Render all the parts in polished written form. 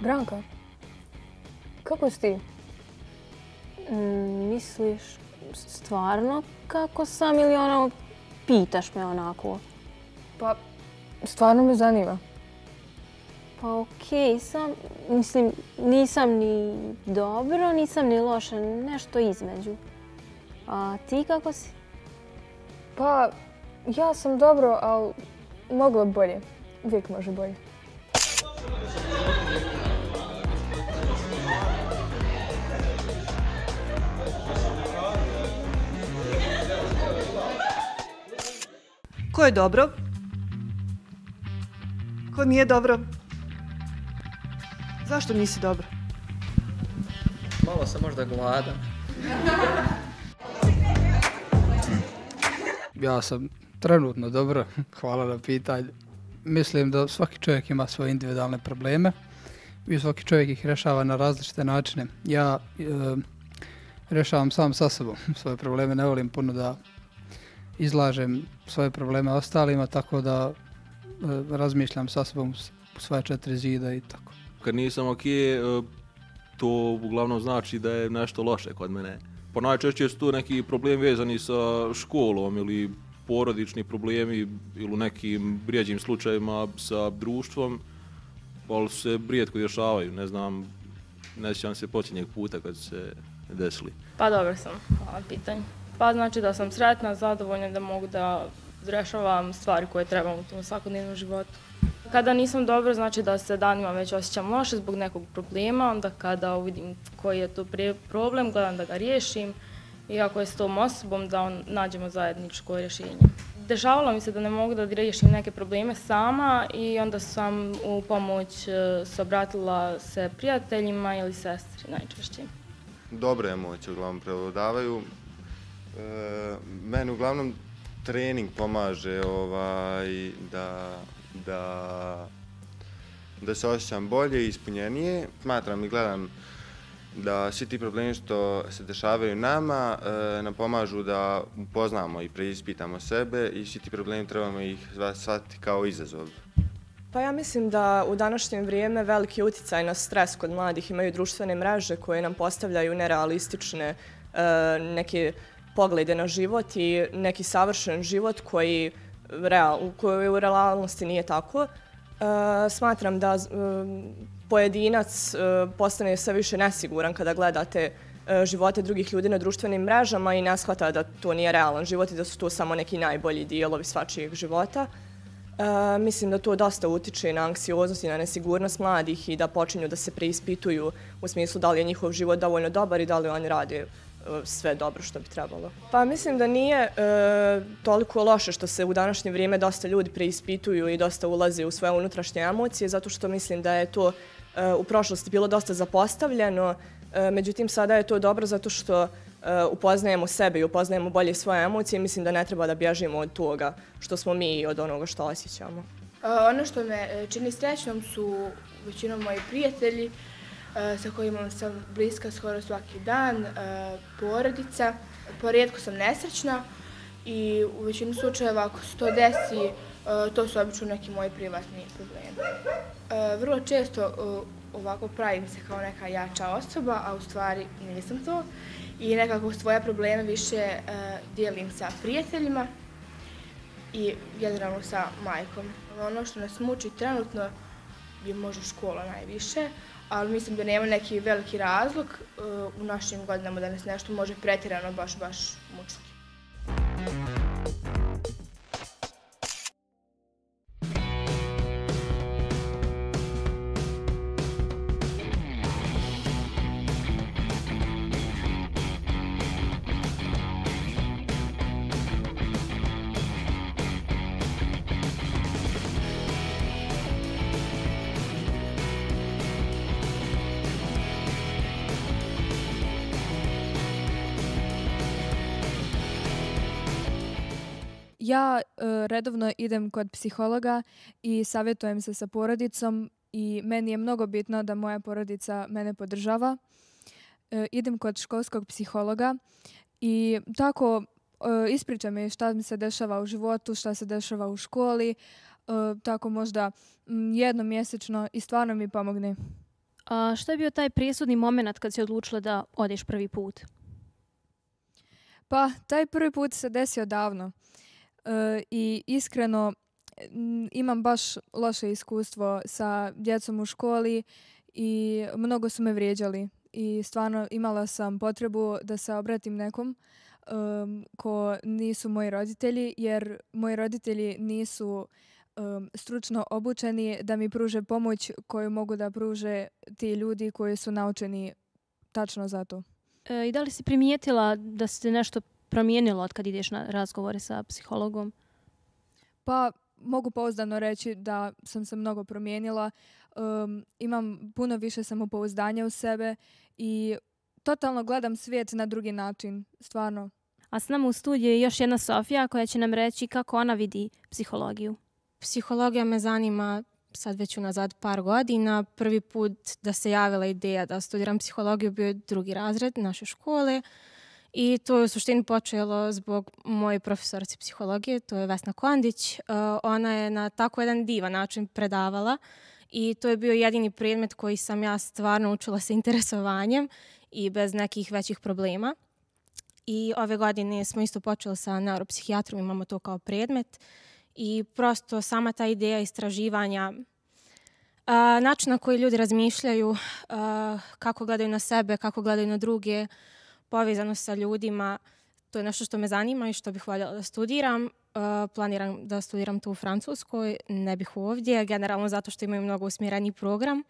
Branka, kako si ti? Misliš stvarno kako sam ili pitaš me onako? Pa, stvarno me zanima. Pa okej, mislim, nisam ni dobro, nisam ni loša, nešto između. A ti kako si? Pa, ja sam dobro, ali moglo bolje. Uvijek može bolje. Ko je dobro? Ko nije dobro? Zašto nisi dobro? Malo sam možda gladan. Ja sam trenutno dobro, hvala na pitanju. Mislim da svaki čovjek ima svoje individualne probleme i svaki čovjek ih rješava na različite načine. Ja rješavam sam sa sobom svoje probleme, ne volim puno da izlažem svoje probleme ostalima, tako da razmišljam sa sobom u svoje 4 zida i tako. Kad nisam ok, to uglavnom znači da je nešto loše kod mene. Pa najčešće su tu neki problemi vezani sa školom ili porodični problemi ili u nekim rijeđim slučajevima sa društvom, ali se rijetko rješavaju, ne znam, ne sjećam se posljednjeg puta kad su se desili. Pa dobro sam, hvala pitanju. Pa znači da sam sretna, zadovoljna da mogu da rješavam stvari koje trebam u tom svakodnevnom životu. Kada nisam dobro, znači da se danima već osjećam loše zbog nekog problema, onda kada uvidim koji je to problem, gledam da ga riješim i ako je s tom osobom da nađemo zajedničko rješenje. Dešavalo mi se da ne mogu da riješim neke probleme sama i onda sam u pomoć se obratila se prijateljima ili sestri najčešće. Dobre emocije uglavnom prevladavaju. Meni uglavnom trening pomaže da se osjećam bolje i ispunjenije. Smatram i gledam da svi ti problemi što se dešavaju nama nam pomažu da upoznamo i preispitamo sebe i svi ti problemi trebamo ih shvatiti kao izazov. Pa ja mislim da u današnje vrijeme veliki utjecaj na stres kod mladih imaju društvene mreže koje nam postavljaju nerealistične neke poglede na život i neki savršen život koji u realnosti nije tako. Smatram da pojedinac postane sve više nesiguran kada gledate živote drugih ljudi na društvenim mrežama i ne shvata da to nije realan život i da su to samo neki najbolji dijelovi svačijeg života. Mislim da to dosta utiče na anksioznost i na nesigurnost mladih i da počinju da se preispituju u smislu da li je njihov život dovoljno dobar i da li oni rade sve dobro što bi trebalo. Pa mislim da nije toliko loše što se u današnje vrijeme dosta ljudi preispituju i dosta ulaze u svoje unutrašnje emocije, zato što mislim da je to u prošlosti bilo dosta zapostavljeno. Međutim, sada je to dobro zato što upoznajemo sebe i upoznajemo bolje svoje emocije i mislim da ne treba da bježimo od toga što smo mi i od onoga što osjećamo. Ono što me čini srećnom su većinom moji prijatelji sa kojima sam bliska skoro svaki dan, porodica. Porijetko sam nesrećna i u većini slučajeva ako se to desi, to su obično neki moji privatni problemi. Vrlo često ovako pravim se kao neka jača osoba, a u stvari nisam to. I nekako svoje probleme više dijelim sa prijateljima i generalno sa majkom. Ono što nas muči trenutno je možda škola najviše, ali mislim da nema neki veliki razlog u našim godinama da nas nešto može pretjerano baš mučiti. Ja redovno idem kod psihologa i savjetujem se sa porodicom i meni je mnogo bitno da moja porodica mene podržava. Idem kod školskog psihologa i tako ispričam mi šta mi se dešava u životu, šta se dešava u školi, tako možda jednom mjesečno i stvarno mi pomogne. Što je bio taj presudni moment kad si odlučila da odeš prvi put? Pa, taj prvi put se desio davno. I iskreno imam baš loše iskustvo sa djecom u školi i mnogo su me vrijeđali. I stvarno imala sam potrebu da se obratim nekom ko nisu moji roditelji, jer moji roditelji nisu stručno obučeni da mi pruže pomoć koju mogu da pruže ti ljudi koji su naučeni tačno za to. I da li si primijetila da se nešto promijenilo od kad ideš na razgovore sa psihologom? Pa mogu pouzdano reći da sam se mnogo promijenila. Imam puno više samopouzdanja u sebe i totalno gledam svijet na drugi način, stvarno. A s nama u studiju je još jedna Sofija koja će nam reći kako ona vidi psihologiju. Psihologija me zanima sad već unazad par godina. Prvi put da se javila ideja da studiram psihologiju bio je 2. razred naše škole. I to je u suštini počelo zbog moje profesorice psihologije, to je Vesna Kondić. Ona je na tako jedan divan način predavala i to je bio jedini predmet koji sam ja stvarno učila sa interesovanjem i bez nekih većih problema. I ove godine smo isto počeli sa neuropsihijatrom, imamo to kao predmet. I prosto sama ta ideja istraživanja, način na koji ljudi razmišljaju, kako gledaju na sebe, kako gledaju na druge, povezano sa ljudima, to je nešto što me zanima i što bih voljela da studiram. Planiram da studiram tu u Francuskoj, ne bih ovdje, generalno zato što imaju mnogo usmjereniji program.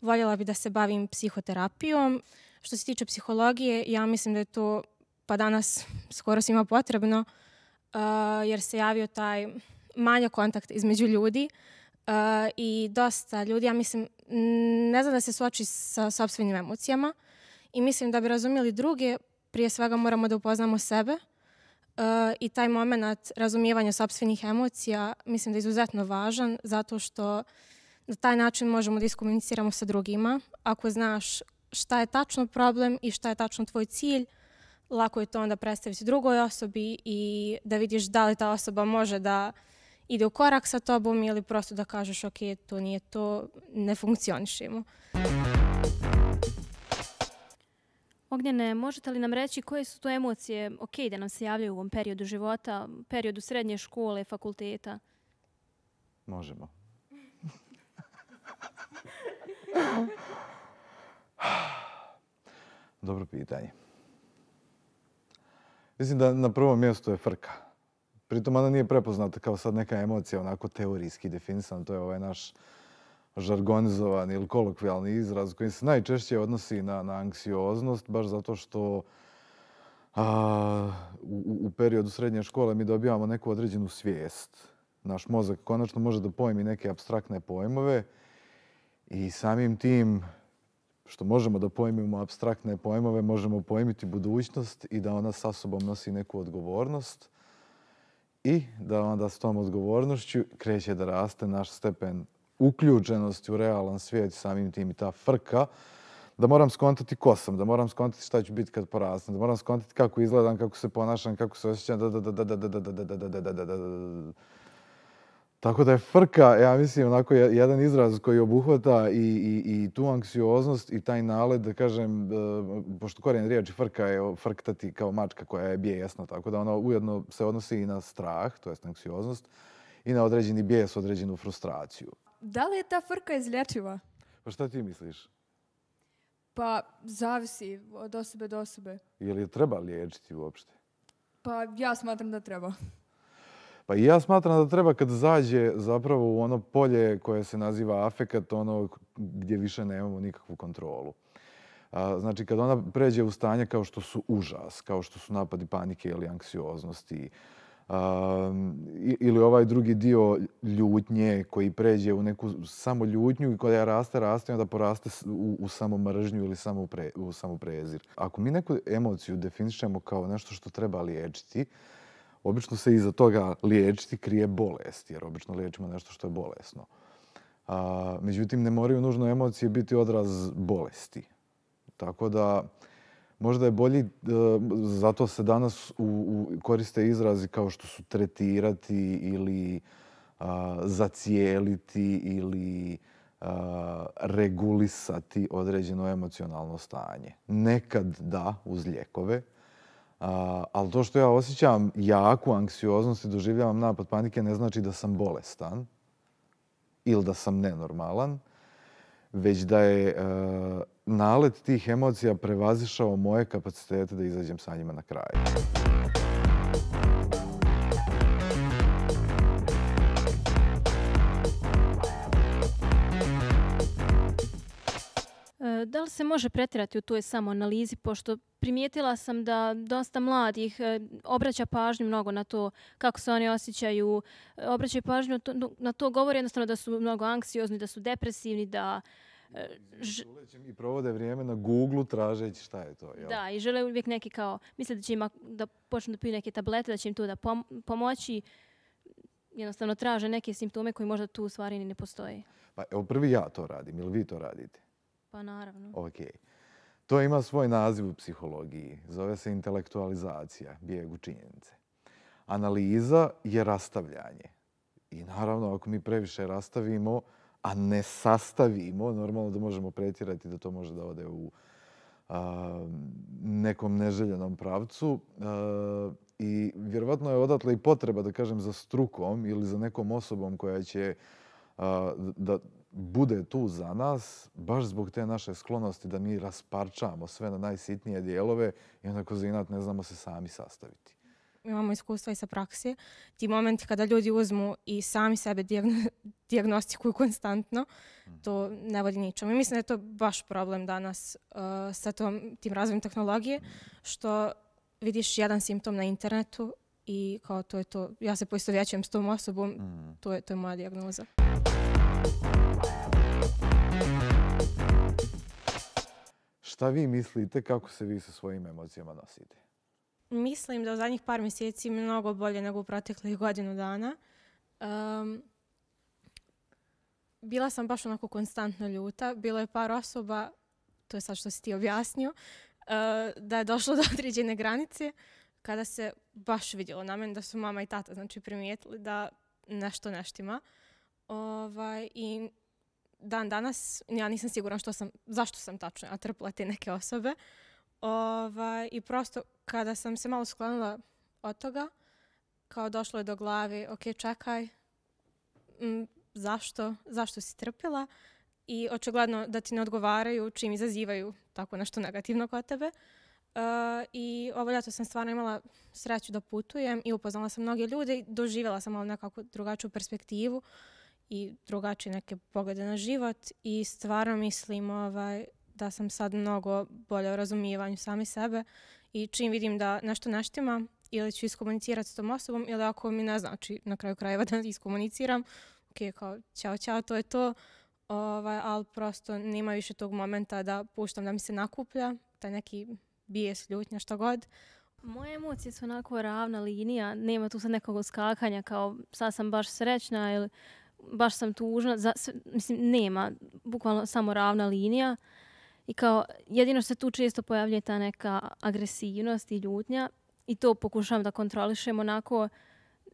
Voljela bih da se bavim psihoterapijom. Što se tiče psihologije, ja mislim da je to pa danas skoro svima potrebno, jer se javio taj manjak kontakt između ljudi i dosta ljudi, ja mislim, ne zna da se suoči sa sopstvenim emocijama i mislim da bi razumjeli druge, prije svega moramo da upoznamo sebe i taj moment razumijevanja sopstvenih emocija mislim da je izuzetno važan zato što na taj način možemo da iskomuniciramo sa drugima. Ako znaš šta je tačno problem i šta je tačno tvoj cilj, lako je to onda predstaviti drugoj osobi i da vidiš da li ta osoba može da ide u korak sa tobom ili prosto da kažeš ok, to nije to, ne funkcionišemo. Ognjene, možete li nam reći koje su to emocije ok da nam se javljaju u ovom periodu života, periodu srednje škole, fakulteta? Možemo. Dobro pitanje. Mislim da na prvom mjestu je frka. Pritom ona nije prepoznata kao sad neka emocija, onako teorijski definisana. To je ovaj naš žargonizovan ili kolokvijalni izraz koji se najčešće odnosi na anksioznost, baš zato što u periodu srednje škole mi dobivamo neku određenu svijest. Naš mozak konačno može da pojmi neke apstraktne pojmove i samim tim što možemo da pojmimo apstraktne pojmove, možemo pojmiti budućnost i da ona sa sobom nosi neku odgovornost i da onda s tom odgovornošću kreće da raste naš stepen uključenosti u realan svijet, samim tim i ta frka, da moram skontati ko sam, da moram skontati šta ću biti kad porastem, da moram skontati kako izgledam, kako se ponašam, kako se osjećam, Tako da je frka, ja mislim, onako jedan izraz koji obuhvata i tu anksioznost i taj nalet, da kažem, pošto korijen riječi frka je frktati kao mačka koja je bijesna, tako da ona ujedno se odnosi i na strah, to jest anksioznost, i na određeni bijes, određenu frustraciju. Da li je ta frka izlječiva? Pa šta ti misliš? Pa zavisi od osobe do osobe. Je li je treba liječiti uopšte? Pa ja smatram da treba. Pa i ja smatram da treba kad zađe zapravo u ono polje koje se naziva afekat, ono gdje više nemamo nikakvu kontrolu. Znači kad ona pređe u stanje kao što su užas, kao što su napadi panike ili anksioznosti, ili ovaj drugi dio ljutnje koji pređe u neku samo ljutnju i koja raste i onda poraste u samo mržnju ili u samo prezir. Ako mi neku emociju definišemo kao nešto što treba liječiti, obično se iza toga liječiti krije bolest, jer obično liječimo nešto što je bolesno. Međutim, ne moraju nužno emocije biti odraz bolesti. Tako da možda je bolji, zato se danas koriste izrazi kao što su tretirati ili zacijeliti ili regulisati određeno emocionalno stanje. Nekad da, uz lijekove, ali to što ja osjećam jaku anksioznost i doživljavam napad panike ne znači da sam bolestan ili da sam nenormalan, već da je nalet tih emocija prevazišao moje kapacitete da izađem sa njima na kraj. Da li se može pretjerati u toj samoanalizi, pošto primijetila sam da dosta mladih obraća pažnju mnogo na to kako se oni osjećaju, obraćaju pažnju na to, govori jednostavno da su mnogo anksiozni, da su depresivni, da... I provode vrijeme na Google-u tražeći šta je to. Jel? Da, i žele uvijek neki kao, misle da će im da počnu da piju neke tablete, da će im to da pomoći. Jednostavno traže neke simptome koji možda tu u stvari ni ne postoje. Pa evo prvi ja to radim, ili vi to radite? Pa naravno. Ok. To ima svoj naziv u psihologiji. Zove se intelektualizacija, bijeg u činjenice. Analiza je rastavljanje. I naravno, ako mi previše rastavimo, a ne sastavimo, normalno da možemo pretjerati da to može da ode u nekom neželjenom pravcu. I vjerovatno je odatle i potreba, da kažem, za strukom ili za nekom osobom koja će da bude tu za nas, baš zbog te naše sklonosti da mi rasparčamo sve na najsitnije dijelove i onda kroz inat ne znamo se sami sastaviti. Imamo iskustva i sa praksi. Ti momenti kada ljudi uzmu i sami sebe dijagnostikuju konstantno, to ne vodi ničemu. I mislim da je to baš problem danas sa tim razvojem tehnologije, što vidiš jedan simptom na internetu i kao to je to. Ja se poistovjećujem s tom osobom, to je moja dijagnoza. Šta vi mislite kako se vi sa svojim emocijama nosite? Mislim da u zadnjih par mjeseci mnogo bolje nego u proteklih godinu dana. Bila sam baš onako konstantno ljuta. Bilo je par osoba, to je sad što si ti objasnio, da je došlo do određene granice kada se baš vidjelo na meni da su mama i tata primijetili da nešto ne štima. I dan danas ja nisam sigurna zašto sam tačno trpila te neke osobe. I prosto kada sam se malo sklonila od toga, kao došlo je do glavi, ok, čekaj, zašto si trpila? I očigledno da ti ne odgovaraju čim izazivaju tako nešto negativno kod tebe. I ovo ljeto sam stvarno imala sreću da putujem i upoznala sam mnoge ljude i doživjela sam malo nekakvu drugačiju perspektivu i drugačije neke poglede na život i stvarno mislim da sam sad mnogo bolje u razumijevanju sami sebe i čim vidim da nešto ne štima ili ću iskomunicirati s tom osobom ili ako mi ne znači na kraju krajeva da iskomuniciram, ok, kao ćao, to je to, ali prosto nema više tog momenta da puštam da mi se nakuplja, taj neki bijes, ljutnja, šta god. Moje emocije su onako ravna linija, nema tu sad nekog uskakanja kao sad sam baš srećna ili baš sam tužna, nema, bukvalno samo ravna linija. I kao jedino što se tu često pojavlja ta neka agresivnost i ljutnja i to pokušavam da kontrolišem onako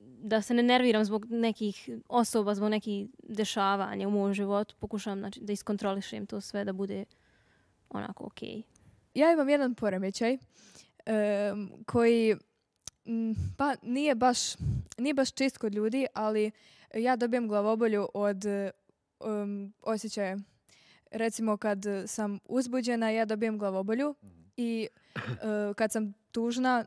da se ne nerviram zbog nekih osoba, zbog nekih dešavanja u mom životu. Pokušavam da iskontrolišem to sve da bude onako okej. Ja imam jedan poremećaj koji pa nije baš čist kod ljudi, ali ja dobijem glavobolju od osjećaja. Recimo kad sam uzbuđena, ja dobijem glavobolju i kad sam tužna,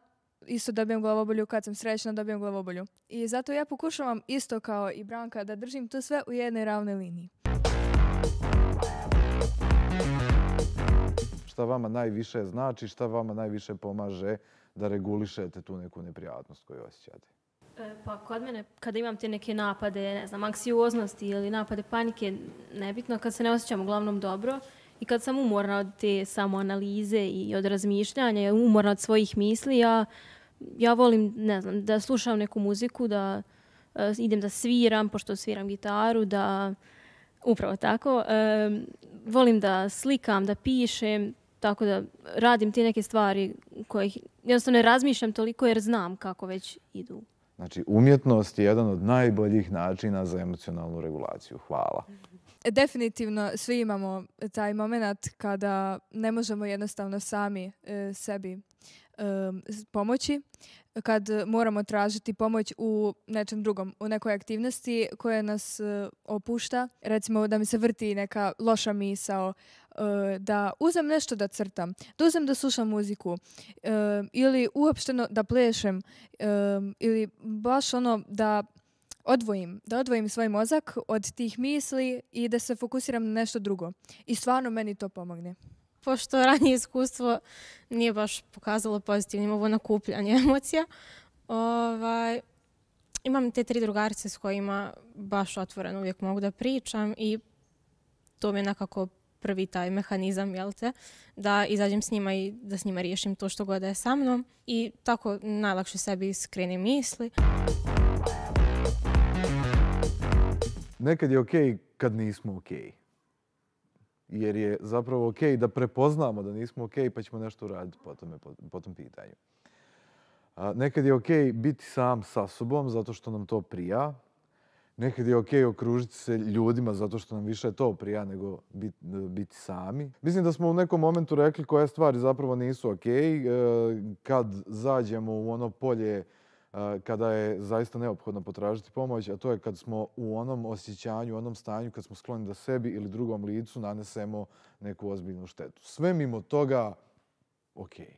isto dobijem glavobolju, kad sam srećna, dobijem glavobolju. I zato ja pokušavam isto kao i Branka da držim to sve u jednoj ravnoj liniji. Šta vama najviše znači, šta vama najviše pomaže da regulišete tu neku neprijatnost koju osjećate? Pa kod mene, kada imam te neke napade, anksioznosti ili napade panike, nebitno, kad se ne osjećam uglavnom dobro i kad sam umorna od te samoanalize i od razmišljanja, umorna od svojih misli, ja volim, da slušam neku muziku, da idem da sviram, pošto sviram gitaru, upravo tako, volim da slikam, da pišem, tako da radim te neke stvari koje jednostavno ne razmišljam toliko jer znam kako već idu. Znači, umjetnost je jedan od najboljih načina za emocionalnu regulaciju. Hvala. definitivno svi imamo taj moment kada ne možemo jednostavno sami sebi pomoći, kad moramo tražiti pomoć u nečem drugom, u nekoj aktivnosti koja nas opušta. Recimo da mi se vrti neka loša misao, da uzem nešto da crtam, da uzem da slušam muziku ili uopšteno da plešem ili baš ono da odvojim svoj mozak od tih misli i da se fokusiram na nešto drugo. I stvarno meni to pomogne. Pošto ranije iskustvo nije baš pokazalo pozitivnim ovo nakupljanje emocija, imam te 3 drugarice s kojima baš otvoreno uvijek mogu da pričam i to mi je nekako prvi taj mehanizam, jel te, da izađem s njima i da s njima riješim to što god je sa mnom i tako najlakše sebi skrenim misli. Nekad je okej kad nismo okej. Jer je zapravo okej da prepoznamo da nismo okej pa ćemo nešto uraditi po tom pitanju. Nekad je okej biti sam sa sobom zato što nam to prija. Nekad je okej okružiti se ljudima zato što nam više to prija nego biti sami. Mislim da smo u nekom momentu rekli koje stvari zapravo nisu okej. Kad zađemo u ono polje kada je zaista neophodno potražiti pomoć, a to je kad smo u onom osjećanju, u onom stanju kad smo skloni da sebi ili drugom licu nanesemo neku ozbiljnu štetu. Sve mimo toga, okej.